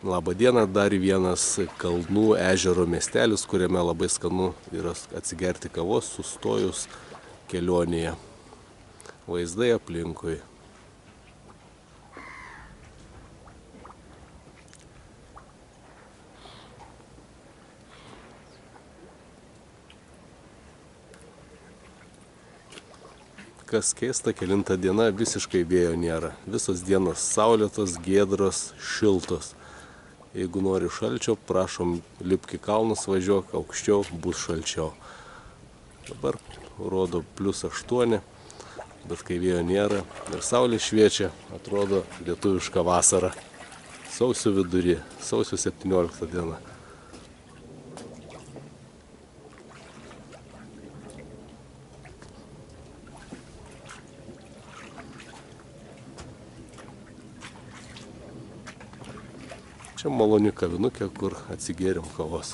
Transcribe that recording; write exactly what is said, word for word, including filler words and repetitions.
Labą dieną, dar vienas Kalnų ežero miestelis, kuriame labai skanu yra atsigerti kavos sustojus kelionėje. Vaizdai aplinkui. Kas keista, kelinta diena, visiškai vėjo nėra. Visos dienos saulėtos, giedros, šiltos. Jeigu nori šalčio, prašom, lipk į kalnus, važiuok, aukščiau bus šalčiau. Dabar rodo plius aštuoni, bet kai vėjo nėra ir saulė šviečia, atrodo lietuviška vasara. Sausio vidury, sausio septyniolikta diena. Čia maloni kavinukė, kur atsigėrėm kavos.